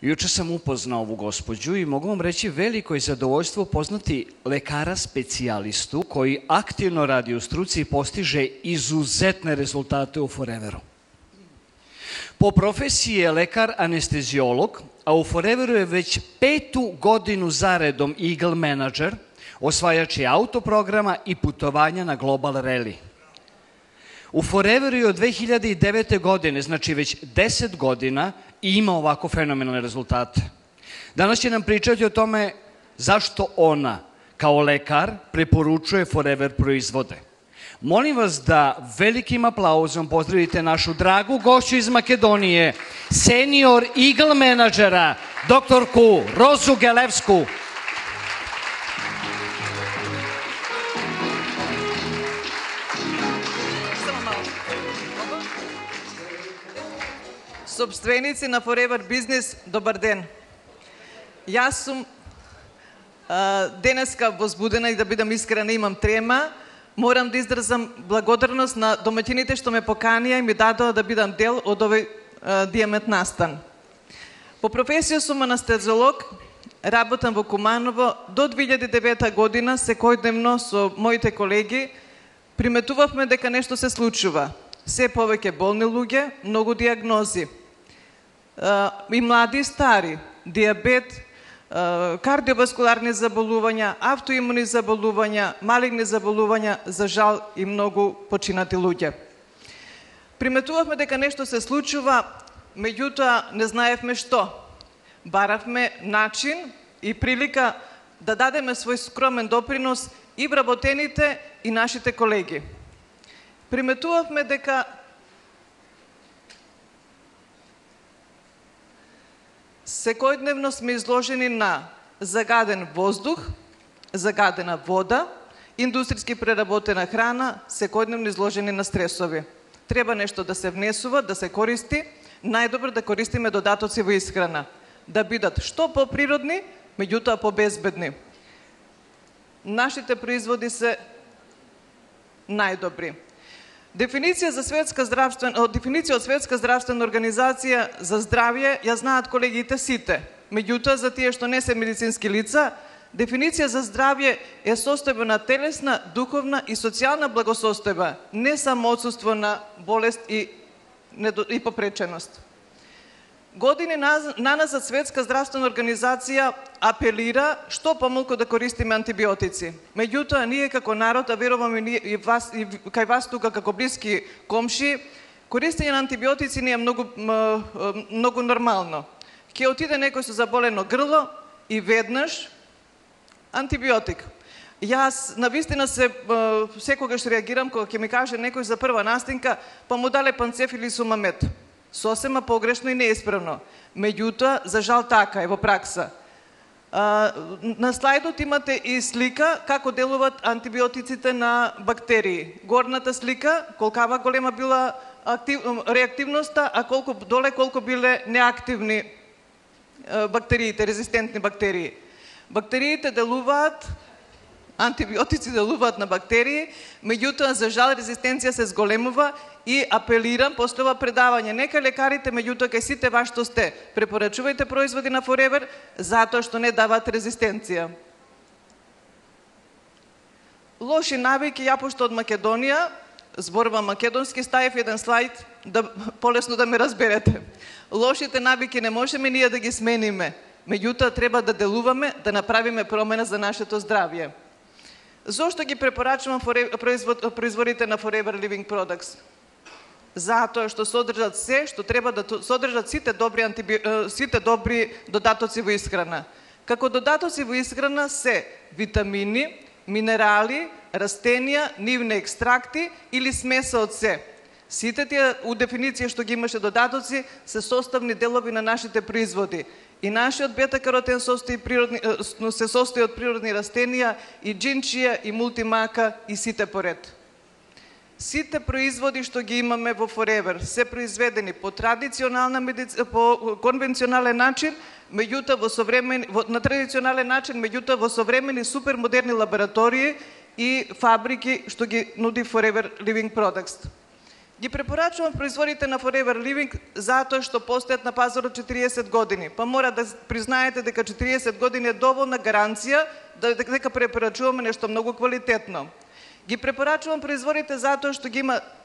Juče sam upoznao ovu gospođu i mogu vam reći veliko je zadovoljstvo upoznati lekara specijalistu koji aktivno radi u struci i postiže izuzetne rezultate u Foreveru. Po profesiji je lekar anesteziolog, a u Foreveru je već 5. godinu zaredom Eagle Manager, osvajač je autoprograma i putovanja na Global Rally. U Foreveru je od 2009. godine, znači već 10 godina, i ima ovako fenomenalne rezultate. Danas će nam pričati o tome zašto ona, kao lekar, preporučuje Forever proizvode. Molim vas da velikim aplauzom pozdravite našu dragu gošću iz Makedonije, senior Eagle menadžera, doktorku Rozu Gelevsku. Собственици на Forever Business, добар ден. Јас сум денеска возбудена и да бидам искрена, имам трема. Морам да изразам благодарност на домаќините што ме поканија и ми дадоа да бидам дел од овој дијамет настан. По професија сум анестезиолог, работам во Куманово. До 2009 година секојдневно со моите колеги приметувавме дека нешто се случува. Се повеќе болни луѓе, многу диагнози. И млади и стари, диабет, кардиоваскуларни заболувања, автоимуни заболувања, малигни заболувања, за жал и многу починати луѓе. Приметувавме дека нешто се случува, меѓутоа не знаевме што. Баравме начин и прилика да дадеме свој скромен допринос и вработените и нашите колеги. Приметувавме дека секојдневно сме изложени на загаден воздух, загадена вода, индустријски преработена храна, секојдневно изложени на стресови. Треба нешто да се внесува, да се користи, најдобро да користиме додатоци во исхрана, да бидат што поприродни, меѓутоа побезбедни. Нашите производи се најдобри. Дефиниција од Светска здравствена организација за здравје ја знаат колегите сите. Меѓутоа, за тие што не се медицински лица, дефиниција за здравје е состојба на телесна, духовна и социјална благосостојба, не само отсуство на болест и попреченост. Години наназад Светска здравствена организација апелира што помалку да користиме антибиотици. Меѓутоа, ние како народ, а верувам и кај вас тука како блиски комши, користење на антибиотици не е многу нормално. Ќе отиде некој со заболено грло и веднаш антибиотик. Јас навистина секогаш реагирам кога ќе ми каже некој за прва настинка, па му дале панцеф или сумамет. Сосема погрешно и неисправно. Меѓутоа, за жал така е во пракса. На слайдот имате и слика како делуваат антибиотиците на бактерии. Горната слика, колкава голема била реактивноста, а колку биле неактивни бактериите, резистентни бактерии. Бактериите делуваат, антибиотици делуваат на бактерии, меѓутоа, за жал, резистенција се зголемува и апелирам после ова предавање. Нека лекарите, меѓутоа, кај сите вас што сте, препорачувајте производи на Forever, затоа што не даваат резистенција. Лоши навики, ја пошто од Македонија, зборувам македонски, ставив еден слайд, полесно да ме разберете. Лошите навики не можеме ние да ги смениме, меѓутоа треба да делуваме, да направиме промена за нашето здравје. Зошто ги препорачувам производите на Forever Living Products? Затоа што содржат се што треба да содржат сите добри додатоци во исхрана. Како додатоци во исхрана се витамини, минерали, растенија, нивни екстракти или смеса од се. Сите тие у дефиниција што ги имаше додатоци се составни делови на нашите производи. И нашиот бета-каротен се состои од природни растенија, и джинчија, и мултимака, и сите поред. Сите производи што ги имаме во Forever се произведени по конвенционален начин, на традиционален начин, меѓутоа во современи супермодерни лаборатории и фабрики што ги нуди Forever Living Products. Ги препорачувам производите на Forever Living затоа што постојат на пазарот 40 години. Па мора да признаете дека 40 години е доволна гаранција дека препорачуваме нешто многу квалитетно. Ги препорачувам производите затоа што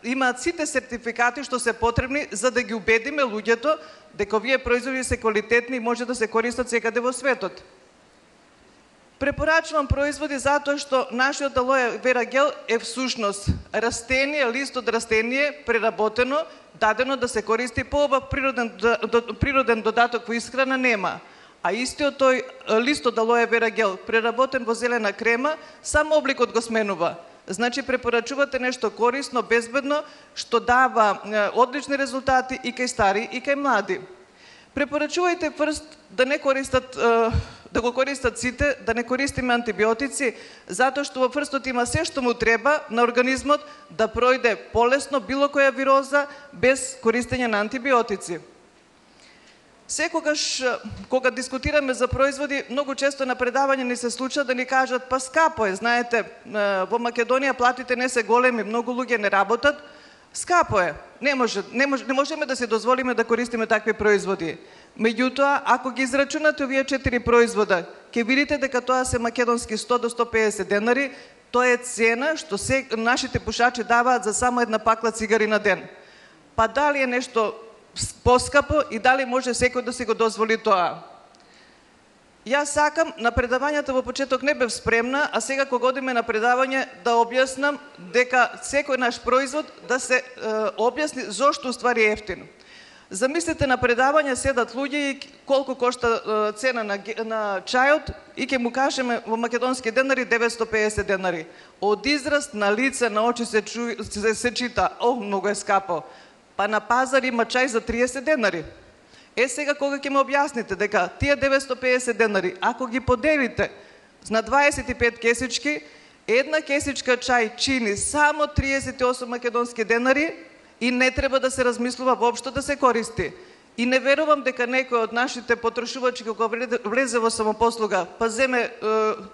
имаат сите сертификати што се потребни за да ги убедиме луѓето дека овие производи се квалитетни и може да се користат секаде во светот. Препорачувам производи затоа што нашиот алоe вера гел е всушност растение, лист од растение преработено, дадено да се користи поубав природен додаток во исхрана нема. А истиот тој лист од алоe вера гел преработен во зелена крема, само обликот го сменува. Значи препорачувате нешто корисно, безбедно, што дава одлични резултати и кај стари и кај млади. Препорачувајте прст да не користат да го користат сите, да не користиме антибиотици, затоа што во прстот има се што му треба на организмот да пројде полесно било која вироза без користење на антибиотици. Секогаш кога дискутираме за производи, многу често на предавање ни се случува да ни кажат па скапо е, знаете, во Македонија платите не се големи, многу луѓе не работат, скапо е. Не можеме да се дозволиме да користиме такви производи. Меѓутоа, ако ги израчунате овие 4 производа, ќе видите дека тоа се македонски 100 до 150 денари, тоа е цена што нашите пушачи даваат за само една пакла цигари на ден. Па дали е нешто поскапо и дали може секој да си го дозволи тоа? Јас сакам на предавањата во почеток не бев спремна, а сега кога одиме на предавање да објаснам дека секој наш производ да се објасни зошто уствари е ефтин. Замислете на предавање седат луѓе и колку кошта цена на чајот и ќе му кажеме во македонски денари 950 денари. Од израз на лице, на очи се чита, многу е скапо. Па на пазар има чај за 30 денари. Сега кога ќе ме објасните дека тие 950 денари, ако ги поделите на 25 кесички, една кесичка чај чини само 38 македонски денари и не треба да се размислува воопшто да се користи. И не верувам дека некој од нашите потрошувачи кога влезе во самопослуга, па земе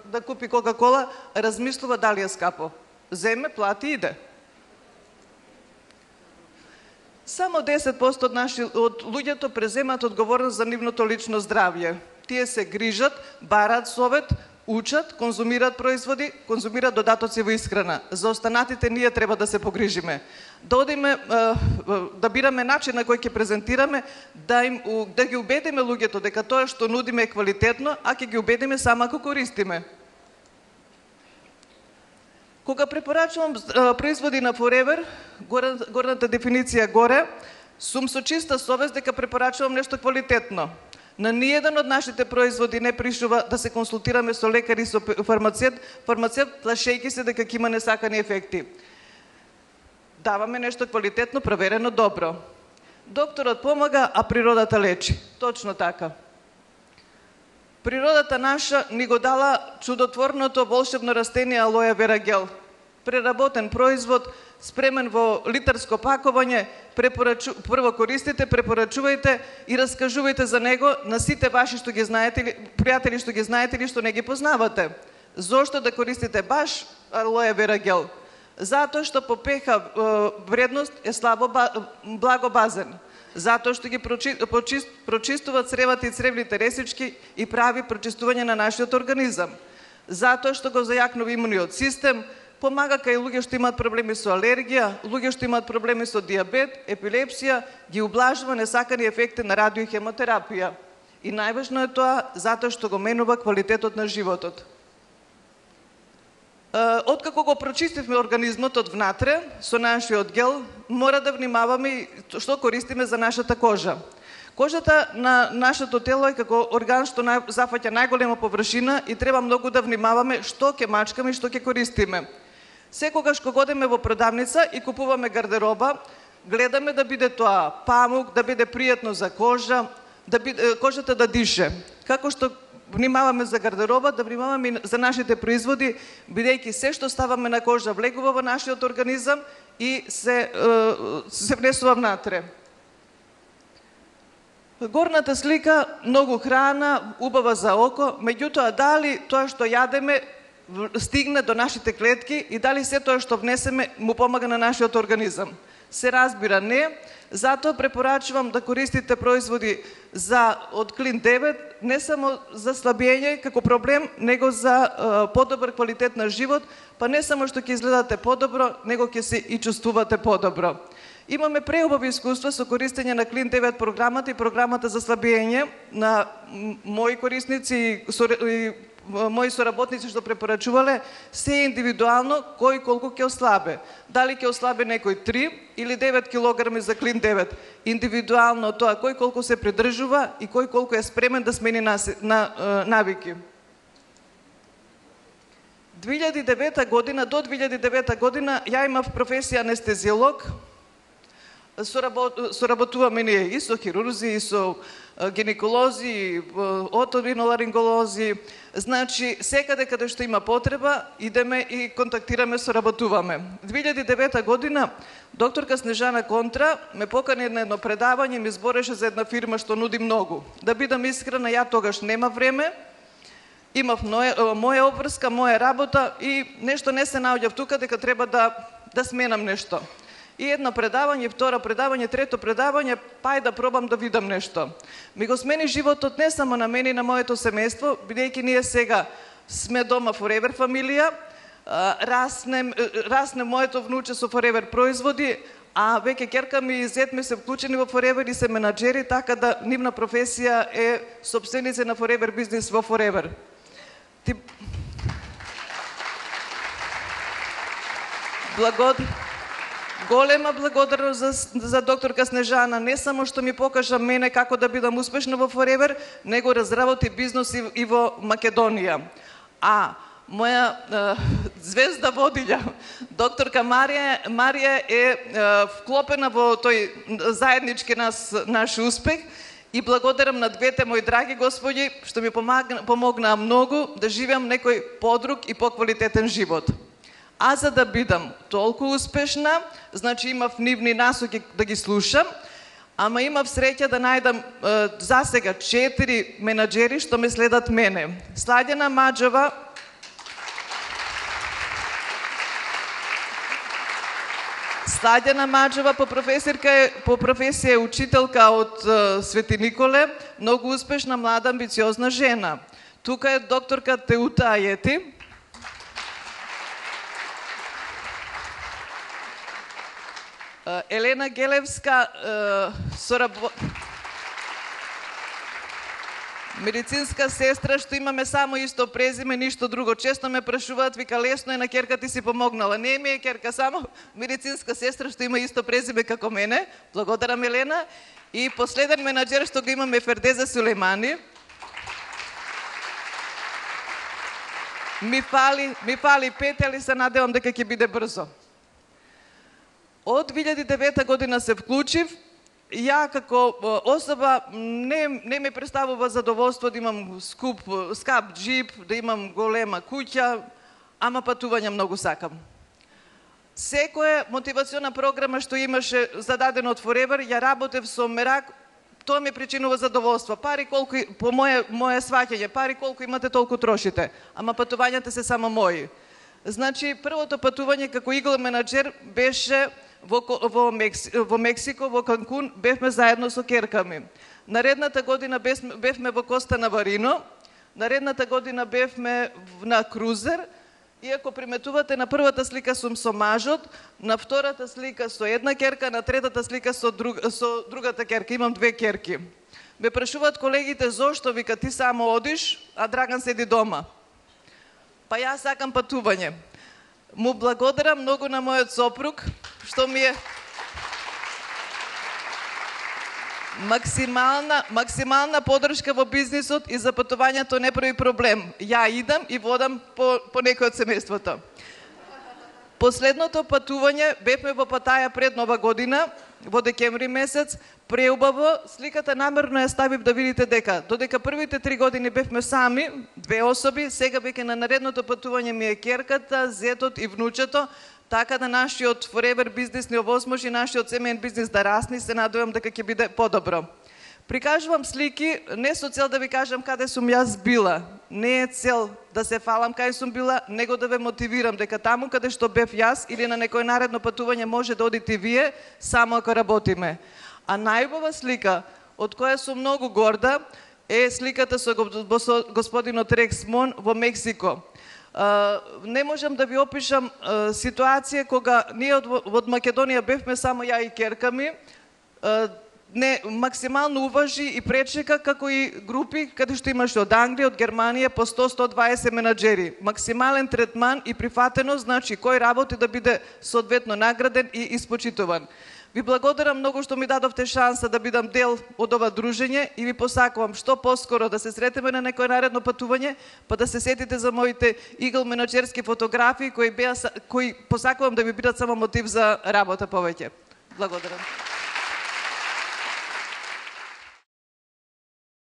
да купи Кока-кола, размислува дали е скапо. Земе, плати, иде. Само 10% од луѓето преземаат одговорност за нивното лично здравје. Тие се грижат, бараат совет, учат, конзумираат производи, конзумираат додатоци во исхрана. За останатите ние треба да се погрижиме. Да одиме, да бираме начин на кој ќе презентираме, да ги убедиме луѓето дека тоа што нудиме е квалитетно, а ќе ги убедиме само ако користиме. Кога препорачувам производи на Forever, горната дефиниција горе, сум со чиста совест дека препорачувам нешто квалитетно. На ниеден од нашите производи не пришува да се консултираме со лекар и со фармацевт, плашејќи се дека ќе има несакани ефекти. Даваме нешто квалитетно, проверено, добро. Докторот помага, а природата лечи. Точно така. Природата наша ни го дала чудотворното волшебно растение алоe вера гел. Преработен производ, спремен во литарско пакување, прво користите, препорачувајте и раскажувајте за него на сите ваши што ги знаете, пријатели што ги знаете или што не ги познавате. Зошто да користите баш алоe вера гел? Затоа што по pH вредност е слабо благо базен. Затоа што ги прочистува цревата и цревните ресички и прави прочистување на нашиот организам. Затоа што го зајакнува имуниот систем, помага кај луѓе што имаат проблеми со алергија, луѓе што имаат проблеми со диабет, епилепсија, ги ублажува несакани ефекти на радио и хемотерапија. И најважно е тоа затоа што го менува квалитетот на животот. Откако го прочистивме организмот од внатре со нашиот гел, мора да внимаваме што користиме за нашата кожа. Кожата на нашето тело е како орган што зафаќа најголема површина и треба многу да внимаваме што ќе мачкаме и што ќе користиме. Секогаш кога одиме во продавница и купуваме гардероба, гледаме да биде тоа памук, да биде пријатно за кожа, кожата да дише. Како што внимаваме за гардероба, да внимаваме и за нашите производи, бидејќи се што ставаме на кожа влегува во нашиот организам и се внесува внатре. Горната слика, многу храна, убава за око, меѓутоа дали тоа што јадеме стигне до нашите клетки и дали се тоа што внесеме му помага на нашиот организам. Се разбира не, затоа препорачувам да користите производи од Клин 9 не само за слабење како проблем, него за подобар квалитет на живот, па не само што ќе изгледате подобро, него ќе се и чувствувате подобро. Имаме преубави искуства со користење на Клин 9 програмата и програмата за слабење на мои корисници и мои соработници што препорачувале, се индивидуално кој колку ќе ослабе. Дали ќе ослабе некој 3 или 9 килограми за Клин 9. Индивидуално тоа кој колку се придржува и кој колку е спремен да смени навики. 2009 година, до 2009 година, ја имав професија анестезиолог. Соработуваме ние и со хирурзи, и со гинеколози, и оториноларинголози. Значи, секаде каде што има потреба, идеме и контактираме, соработуваме. 2009 година, докторка Снежана Контра ме покани на едно предавање, ми збореше за една фирма што нуди многу. Да бидам искрена, ја тогаш нема време, имав моја обврска, моја работа и нешто не се наоѓав тука дека треба да сменам нешто. И едно предавање, второ предавање, трето предавање, пај да пробам да видам нешто. Ми го смени животот не само на мене и на моето семејство, бидејќи ние сега сме дома Forever фамилија, расне моето внуче со Forever производи, а веќе ќерка ми и зет ми се вклучени во Forever и се менаџери, така да нивна професија е сопственица на Forever бизнис во Forever. Голема благодарност за докторка Снежана, не само што ми покажа мене како да бидам успешна во Forever, него разработи бизнес и во Македонија. А моја звезда водилја, докторка Марија е вклопена во тој заеднички наш успех и благодарам на двете мои драги господи што ми помогнаа многу да живеам некој подруг и поквалитетен живот. А за да бидам толку успешна, значи имав нивни насоки да ги слушам, ама имав среќа да најдам засега 4 менаџери што ме следат мене. Сладјана Маџева по професија е учителка од Свети Николе, многу успешна, млада, амбициозна жена. Тука е докторка Теута Ајети. Елена Гелевска, медицинска сестра, што имаме само исто презиме, ништо друго. Често ме прашуваат, вика, лесно е, на ќерка ти си помогнала. Не ми е ќерка, само медицинска сестра што има исто презиме како мене. Благодарам, Елена. И последен менаџер што го имаме Фердеза Сулеймани. Ми фали 5, али се надевам дека ќе биде брзо. Од 2009 година се вклучив. Ја како особа не ме представува задоволство да имам скап джип, да имам голема куќа, ама патување многу сакам. Секоја мотивациона програма што имаше зададено од Forever, ја работев со мерак, тоа ми причинува задоволство. Пари колку, по моje сваќање, пари колку имате толку трошите, ама патувањата се само мои. Значи, првото патување како игл менаџер беше во Мексико, во Канкун, бевме заедно со ќерка ми. Наредната година бевме во Коста Наварино, наредната година бевме на крузер, и ако приметувате, на првата слика сум со мажот, на втората слика со една ќерка, на третата слика со другата ќерка. Имам 2 ќерки. Ме прашуваат колегите зошто, вика, ти само одиш, а Драган седи дома. Па јас сакам патување. Му благодарам многу на мојот сопруг, што ми е максимална подршка во бизнисот и за патувањето не прави проблем. Ја идам и водам по некој од семејството. Последното патување бевме во Паттаја пред Нова година, во декември месец, преубаво. Сликата намерно ја ставив да видите дека додека првите 3 години бевме сами, 2 особи, сега веќе на наредното патување ми е ќерката, зетот и внучето, така да нашиот Forever бизнис не овозможи нашиот семеен бизнис да расне, се надевам дека ќе биде подобро. Прикажувам слики не со цел да ви кажам каде сум јас била, не е цел да се фалам кај сум била, него да ве мотивирам дека таму каде што бев јас или на некој наредно патување може да одите вие, само ако работиме. А најубава слика, од која сум многу горда, е сликата со господинот Рекс Мон во Мексико. Не можам да ви опишам ситуација кога ние од Македонија бевме само ја и керка ми, не максимално уважи и пречека, како и групи каде што имаше од Англија, од Германија по 100-120 менаџери. Максимален третман и прифатеност, значи кој работи да биде соодветно награден и испочитуван. Ви благодарам многу што ми дадовте шанса да бидам дел од ова дружење и ви посакувам што поскоро да се сретеме на некој наредно патување, па да се сетите за моите игл менаџерски фотографии кои посакувам да ви бидат само мотив за работа повеќе. Благодарам.